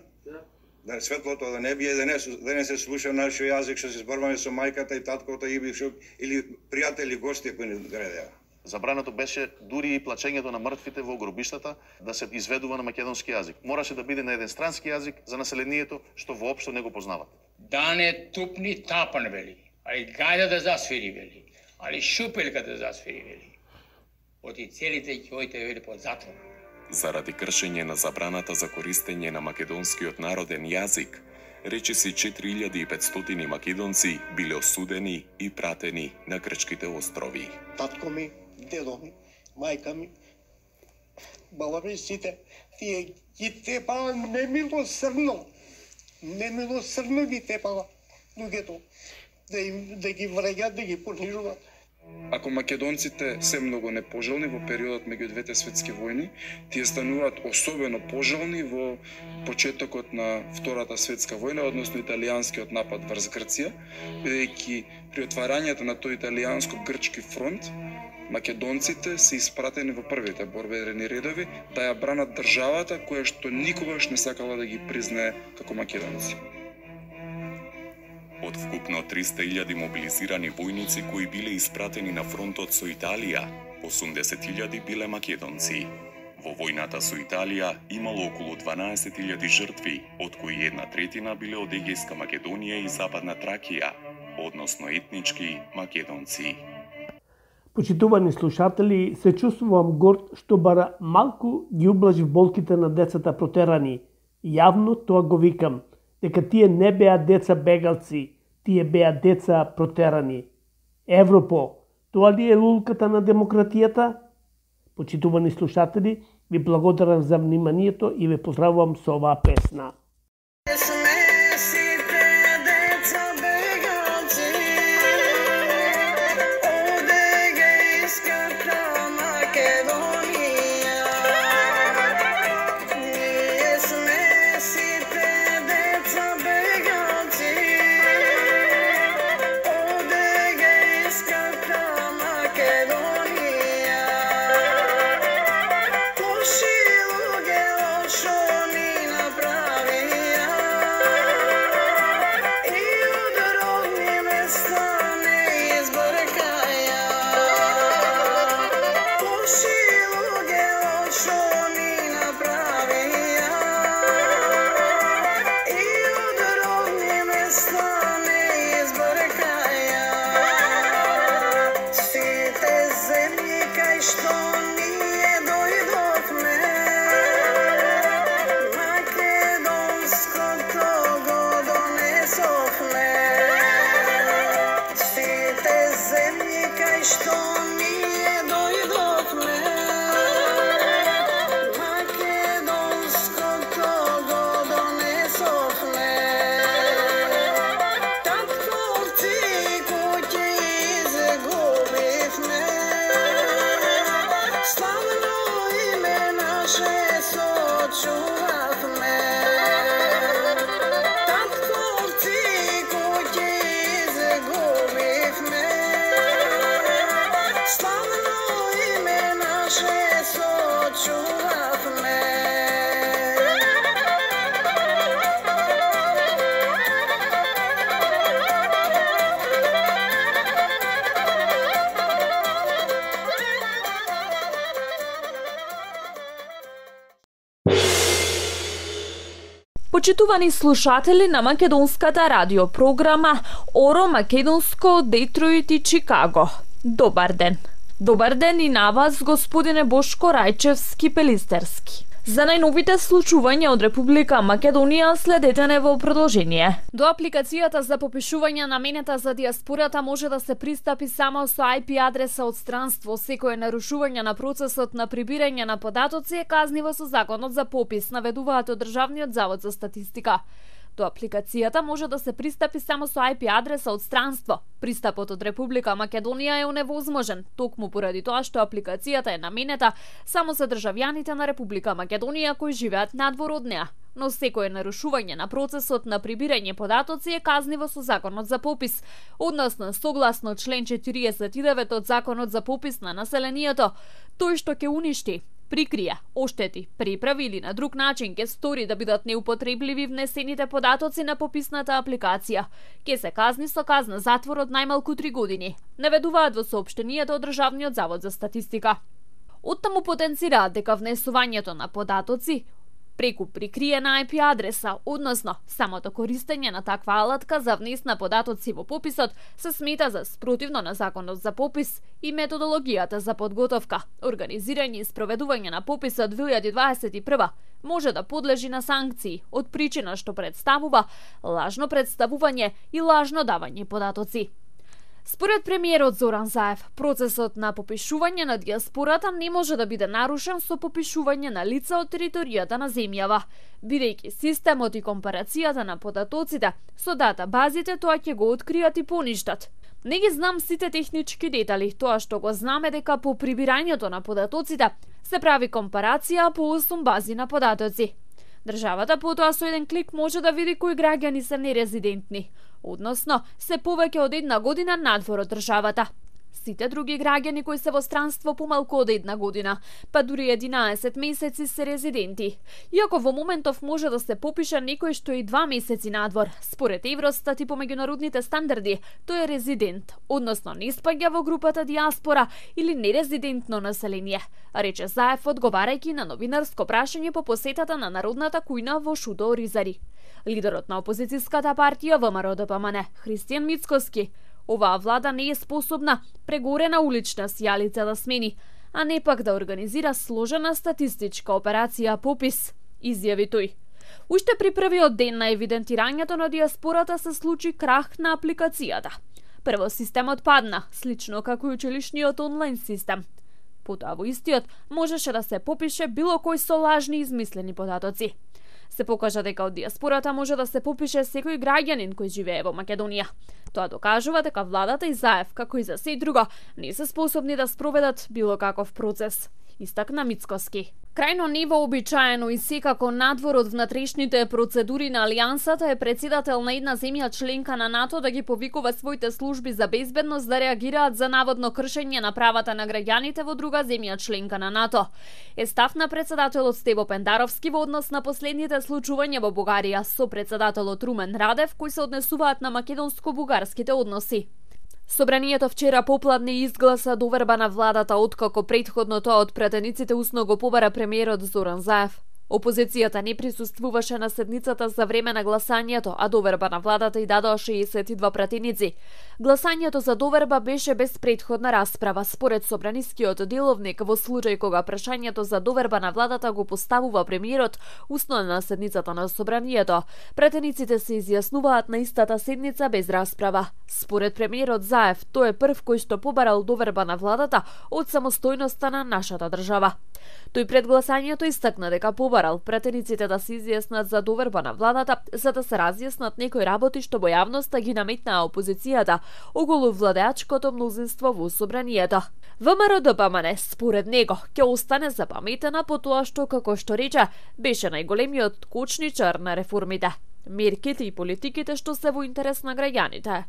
да светлото да не бие, да не се слуша нашиот јазик, што се зборуваме со мајката и таткото или пријатели, гости кои не градеа. Забрането беше дури и плачењето на мртвите во гробиштата да се изведува на македонски јазик. Мораше да биде на еден странски јазик за населението што воопшто не го познават. Да не тупни тапан вели, али гајда да засвири вели, али шупелка да засвири вели. Оти целите ќе ојте вели под затвор. Заради кршење на забраната за користење на македонскиот народен јазик, речиси 4500 македонци биле осудени и пратени на грчките острови. Татко ми, дедо ми, мајка ми, баба ми, сите, тие ги тепаа немилосрдно ги тепаа луѓето, да ги враѓат, да ги понижуваат. Ако македонците се многу непожелни во периодот меѓу двете светски војни, тие стануваат особено пожелни во почетокот на Втората светска војна, односно италијанскиот напад врз Грција, бидејќи при отварањето на тој италијанско-грчки фронт, македонците се испратени во првите борбени редови да ја бранат државата која што никогаш не сакала да ги признае како македонци. Од вкупно 300.000 мобилизирани војници кои биле испратени на фронтот со Италија, 80.000 биле македонци. Во војната со Италија имало околу 12.000 жртви, од кои 1/3 биле од Егејска Македонија и Западна Тракија, односно етнички македонци. Почитувани слушатели, се чувствувам горд што бара малку ги ублажив болките на децата протерани. Јавно тоа го викам, дека тие не беа деца бегалци, тие беа деца протерани. Европо, тоа ли е лулката на демократијата? Почитувани слушатели, ви благодарам за вниманието и ве поздравувам со оваа песна. Pravi Почитувани слушатели на македонската радиопрограма Оро Македонско, Детройт и Чикаго. Добар ден. Добар ден и на вас, господине Бошко Рајчевски-Пелистерски. За најновите случувања од Република Македонија следете не во продолжение. До апликацијата за попишување наменета за диаспората може да се пристапи само со IP адреса од странство. Секое нарушување на процесот на прибирање на податоци е казниво со законот за попис, наведуваат од Државниот завод за статистика. До апликацијата може да се пристапи само со IP адреса од странство. Пристапот од Република Македонија е оневозможен, токму поради тоа што апликацијата е наменета само за државјаните на Република Македонија кои живеат надвор од неа. Но секое нарушување на процесот на прибирање податоци е казниво со законот за попис, односно согласно член 49 од законот за попис на населението, тој што ќе уништи, прикрија, оштети, приправи или на друг начин ќе стори да бидат неупотребливи внесените податоци на пописната апликација, ќе се казни со казна затвор од најмалку 3 години, наведуваат во соопштенијето од Државниот завод за статистика. Оттаму потенцираат дека внесувањето на податоци преку прикриена IP адреса, односно самото користење на таква алатка за внес на податоци во пописот се смета за спротивно на законот за попис и методологијата за подготовка, организирање и спроведување на пописот 2021 може да подлежи на санкции од причина што представува лажно представување и лажно давање податоци. Според премиерот Зоран Заев, процесот на попишување на диаспората не може да биде нарушен со попишување на лица од територијата на земјава, бидејќи системот и компарацијата на податоците со датабазите тоа ќе го откријат и поништат. Не ги знам сите технички детали, тоа што го знаме дека по прибирањето на податоците се прави компарација по 8 бази на податоци. Државата потоа со еден клик може да види кои граѓани се нерезидентни, односно се повеќе од 1 година надвор од државата. Сите други граѓани кои се во странство помалку од 1 година, па дури 11 месеци се резиденти. Иако во моментов може да се попише некој што и 2 месеци надвор, според Евростат и по меѓународните стандарди, тој е резидент, односно не спаѓа во групата диаспора или нерезидентно население, рече Заев одговарајќи на новинарско прашање по посетата на Народната кујна во Шудо Оризари. Лидерот на опозицијската партија ВМРО-ДПМН, Христијан Мицкоски, оваа влада не е способна прегорена улична сијалица да смени, а не пак да организира сложена статистичка операција попис, изјави тој. Уште при првиот ден на евидентирањето на диаспората се случи крах на апликацијата. Прво системот падна, слично како и училишниот онлайн систем. Потоа во истиот можеше да се попише било кој со лажни измислени податоци. Се покажа дека од диаспората може да се попише секој граѓанин кој живее во Македонија. Тоа докажува дека владата и Заев, како и за сѐ друго, не се способни да спроведат било каков процес, истакна Мицкоски. Крајно невообичаено и секако надвор од внатрешните процедури на Алијансата е председател на една земја членка на НАТО да ги повикува своите служби за безбедност да реагираат за наводно кршење на правата на граѓаните во друга земја членка на НАТО. Е став на председателот Стево Пендаровски во однос на последните случувања во Бугарија со председателот Румен Радев кои се однесуваат на македонско-бугарските односи. Собранието вчера попладне изгласа доверба на владата откако претходно тоа од пратениците усно го побара премиерот Зоран Заев. Опозицијата не присуствуваше на седницата за време на гласањето, а доверба на владата и дадоа 62 пратеници. Гласањето за доверба беше без претходна расправа, според собранискиот деловник, во случај кога прашањето за доверба на владата го поставува премиерот усно на седницата на собранието. Пратениците се изјаснуваат на истата седница без расправа. Според премиерот Заев, тој е прв кој што побарал доверба на владата од самостојноста на нашата држава. Тој пред гласањето истакна дека побарал пратениците да се изјаснат за доверба на владата, за да се разјаснат некои работи што во јавноста ги наметнаа опозицијата околу владеачкото мнозинство во собранието. ВМРО-ДПМН, според него, ќе остане запаметена по тоа што, како што рече, беше најголемиот кочничар на реформите, мерките и политиките што се во интерес на граѓаните.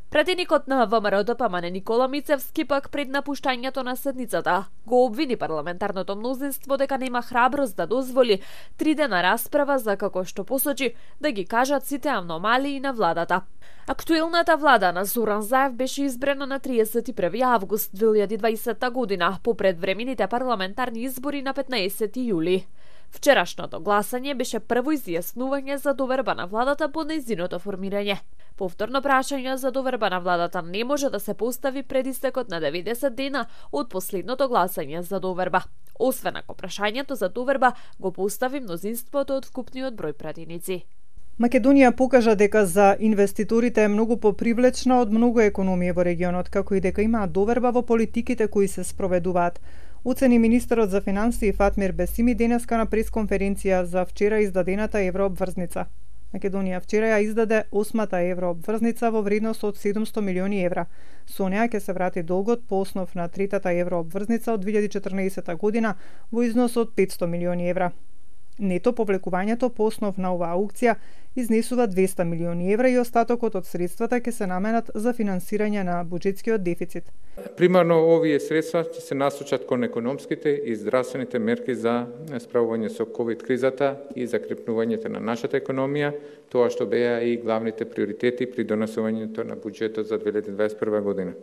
Пратеникот на ВМРО-ДПМН Никола Мицевски пак пред напуштањето на седницата го обвини парламентарното мнозинство дека нема храброст да дозволи 3 дена расправа за, како што посочи, да ги кажат сите аномалии на владата. Актуелната влада на Зоран Заев беше избрана на 31 август 2020 година по предвремените парламентарни избори на 15 јули. Вчерашното гласање беше прво изјаснување за доверба на владата по нејзиното формирање. Повторно прашање за доверба на владата не може да се постави пред истекот на 90 дена од последното гласање за доверба, освен ако прашањето за доверба го постави мнозинството од вкупниот број пратеници. Македонија покажа дека за инвеститорите е многу попривлечна од многу економии во регионот, како и дека имаат доверба во политиките кои се спроведуваат. Оцени министерот за финансии Фатмир Бесими денеска на пресконференција за вчера издадената еврообврзница. Македонија вчера ја издаде 8-та еврообврзница во вредност од 700 милиони евра. Со неа ќе се врати долгот по основ на третата еврообврзница од 2014 година во износ од 500 милиони евра. Нето повлекувањето по основ на оваа аукција изнесува 200 милиони евра и остатокот од средствата ќе се наменат за финансирање на буџетскиот дефицит. Примарно овие средства ќе се насочат кон економските и здравствените мерки за справување со ковид кризата и закрепнувањето на нашата економија, тоа што беа и главните приоритети при донесувањето на буџетот за 2021 година.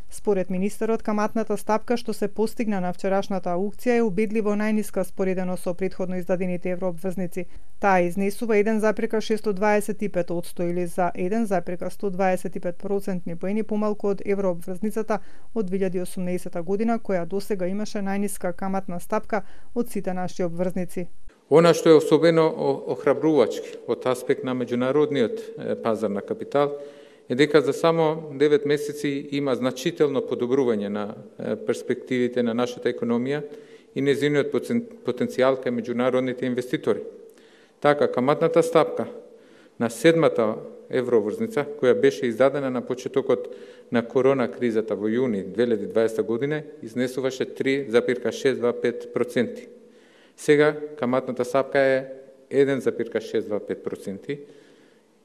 Според министерот, каматната стапка што се постигна на вчерашната аукција е убедливо најниска споредено со претходно издадените еврообврзници. Таа изнесува 1,625% или за 1,125% поени помалку од еврообврзницата од 2018 година, која досега имаше најниска каматна стапка од сите наши обврзници. Она што е особено охрабрувачки од аспект на меѓународниот пазар на капитал е дека за само 9 месеци има значително подобрување на перспективите на нашата економија и незиниот потенцијал кај меѓународните инвеститори. Така, каматната стапка на 7-та евроврзница, која беше издадена на почетокот на корона кризата во јуни 2020 година, изнесуваше 3,625%. Сега каматната стапка е 1,625%,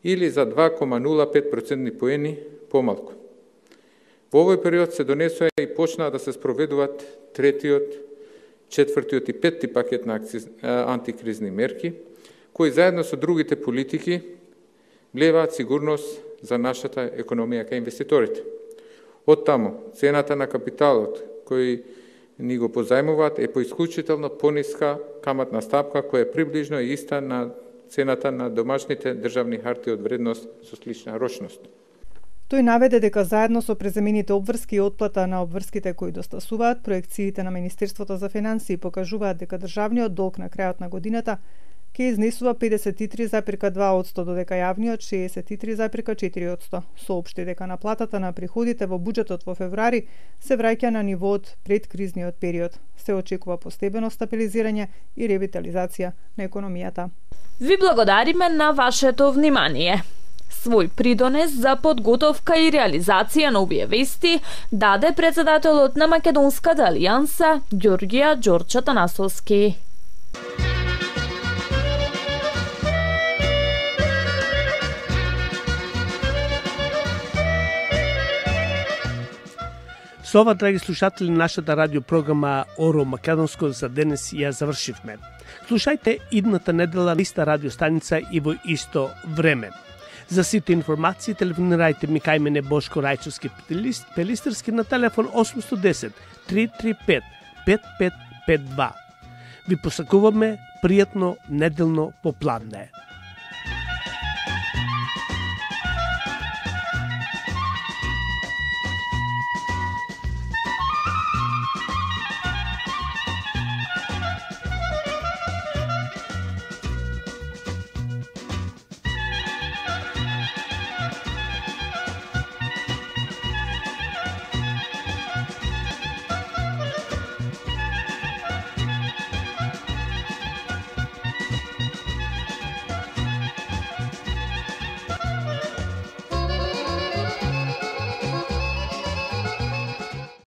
или за 2,05% поени помалку. Во овој период се донесоа и почнаа да се спроведуваат третиот, четвртиот и петти пакет на антикризни мерки, кои заедно со другите политики влеваат сигурност за нашата економија кај инвеститорите. Од таму, цената на капиталот кој ни го позајмуваат е по исклучително пониска каматна стапка која е приближно иста на цената на домашните државни харти од вредност со слична рочност. Тој наведе дека заедно со преземените обврски и отплата на обврските кои достасуваат, проекциите на Министерството за финансии покажуваат дека државниот долг на крајот на годината ќе изнесува 53,2%, додека јавниот 63,4%. Соопшти дека наплатата на приходите во буџетот во февруари се враќа на нивоот пред кризниот период. Се очекува постепено стабилизирање и ревитализација на економијата. Ви благодариме на вашето внимание. Свој придонес за подготовка и реализација на овие вести даде председателот на Македонската алијанса Ѓорѓија Ѓорче Атанасовски. Со ова, драги слушатели, нашата радиопрограма Оро Македонско за денес ја завршивме. Слушајте идната недела на иста радиостаница и во исто време. За сите информации телефонирајте ми кај мене Бошко Рајчевски Пелистерски на телефон 810 335 5552. Ви посакуваме пријатно неделно попладне.